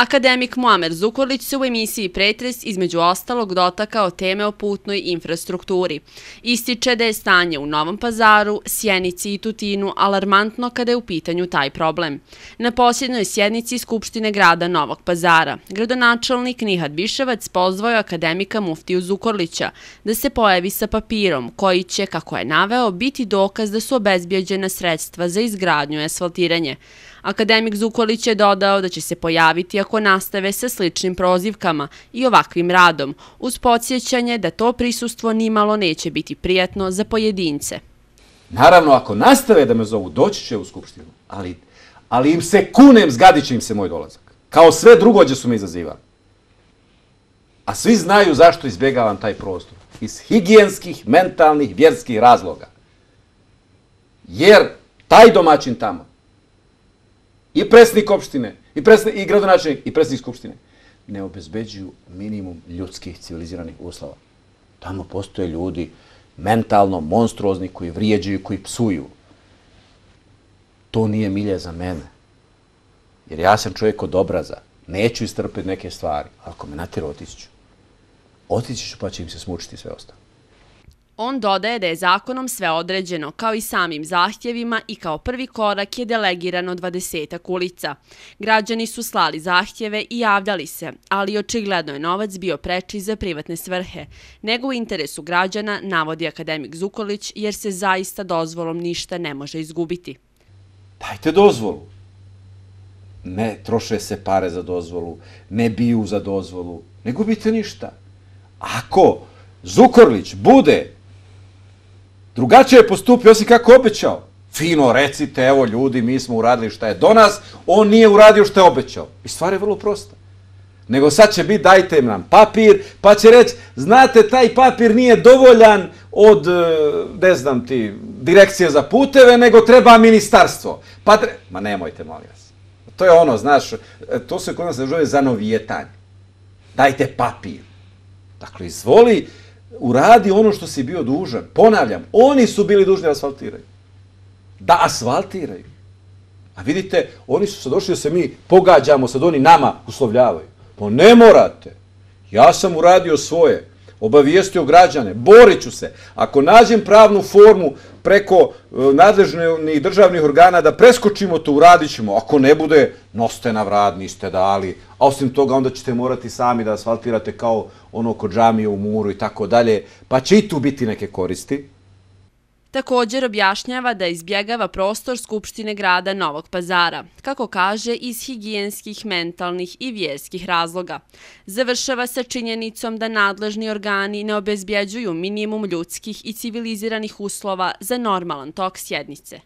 Akademik Muamer Zukorlić se u emisiji Pretres između ostalog dotakao teme o putnoj infrastrukturi. Ističe da je stanje u Novom Pazaru, Sjenici i Tutinu alarmantno kada je u pitanju taj problem. Na posljednjoj sjednici Skupštine grada Novog Pazara, gradonačelnik Nihat Biševac pozvao je akademika Muftiju Zukorlića da se pojavi sa papirom koji će, kako je naveo, biti dokaz da su obezbijeđena sredstva za izgradnju i asfaltiranje. Akademik Zukorlić je dodao da će se pojaviti ako nastave sa sličnim prozivkama i ovakvim radom, uz podsjećanje da to prisustvo nimalo neće biti prijatno za pojedince. Naravno, ako nastave da me zovu, doći će u Skupštinu, ali im se kunem, zgadit će im se moj dolazak. Kao sve drugo gdje su me izazivali. A svi znaju zašto izbjegavam taj prostor. Iz higijenskih, mentalnih, vjerskih razloga. Jer taj domaćin tamo, i predsjednik opštine, i gradonačelnik, i predsjednik skupštine, ne obezbeđuju minimum ljudskih civiliziranih uslova. Tamo postoje ljudi mentalno monstruozni koji vrijeđaju, koji psuju. To nije milje za mene. Jer ja sam čovjek od obraza. Neću istrpiti neke stvari. Ako me natjera, otići ću. Otići ću pa će im se smučiti sve ostalo. On dodaje da je zakonom sve određeno, kao i samim zahtjevima, i kao prvi korak je delegirano 20 ulica. Građani su slali zahtjeve i javljali se, ali očigledno je novac bio preči za privatne svrhe, nego u interesu građana, navodi akademik Zukorlić, jer se zaista dozvolom ništa ne može izgubiti. Dajte dozvolu. Ne troše se pare za dozvolu, ne biju za dozvolu, ne gubite ništa. Ako Zukorlić bude drugačije postupio, osim kako obećao, fino recite, evo ljudi, mi smo uradili šta je do nas, on nije uradio šta je obećao. I stvar je vrlo prosta. Nego sad će biti, dajte nam papir, pa će reći, znate, taj papir nije dovoljan od, ne znam ti, direkcije za puteve, nego treba ministarstvo. Ma nemojte, molim vas. To je ono, znaš, to se kod nas zove zanovijetanje. Dajte papir. Dakle, izvoli, uradi ono što si bio dužan. Ponavljam, oni su bili dužni da asfaltiraju. Da asfaltiraju. A vidite, oni su sad došli da se mi pogađamo, sad oni nama uslovljavaju. Pa ne morate. Ja sam uradio svoje. Obavijestio građane. Borit ću se. Ako nađem pravnu formu preko nadležnih državnih organa da preskočimo to, uradit ćemo. Ako ne bude, nosite na vrat, niste dali. A osim toga, onda ćete morati sami da asfaltirate kao ono kod džamije u Muru i tako dalje. Pa će i tu biti neke koristi. Također objašnjava da izbjegava prostor Skupštine grada Novog Pazara, kako kaže, iz higijenskih, mentalnih i vjerskih razloga. Završava sa činjenicom da nadležni organi ne obezbjeđuju minimum ljudskih i civiliziranih uslova za normalan tok sjednice.